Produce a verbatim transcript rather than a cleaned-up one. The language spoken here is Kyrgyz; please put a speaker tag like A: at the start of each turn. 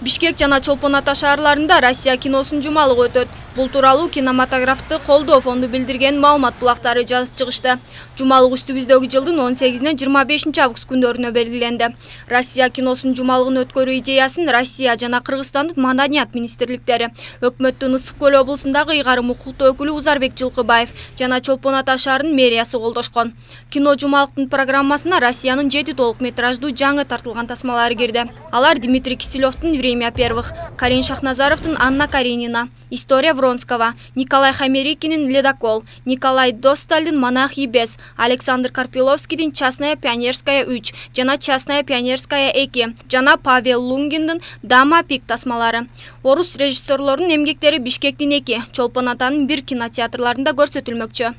A: Бишкек жана Чолпон Ата шаарларында Россия киносунун жумалыгы өтөт. Бул тууралуу кинематографты колдоо фонду билдирген маалымат булактары жазып чыгышты. Жумалык үстүбүздөгү жылдын он сегизинен жыйырма бешинчи август күндөрүнө белгиленди. Россия киносунун жумалыгын өткөрүү идеясын Россия жана Кыргызстандын маданият министрликтери, өкмөттүн Ысык көл облусундагы ыйгарым укуктуу өкүлү Узарбек Жылкыбаев жана Чолпон Ата шаарынын мэриясы колдошкон. Кино жумалыктын программасына Россиянын жети толук метраждуу жаңы тартылган тасмалары кирди. Алар Дмитрий Киселевдин «Время первых», Карин Шахназаровдун «Анна Каренина», «История Вронского», Николай Хамерикинин «Ледокол», Николай Достальдын «Монах и бес», Александр Карпиловскийдин «Частная пионерская үч» жана «Частная пионерская эки», жана Павел Лунгиндин «Дама пик» тасмалары. Орус режиссерлорунун эмгектери Бишкектин эки, Чолпон Атанын бир кинотеатрларында көрсөтүлмөкчү.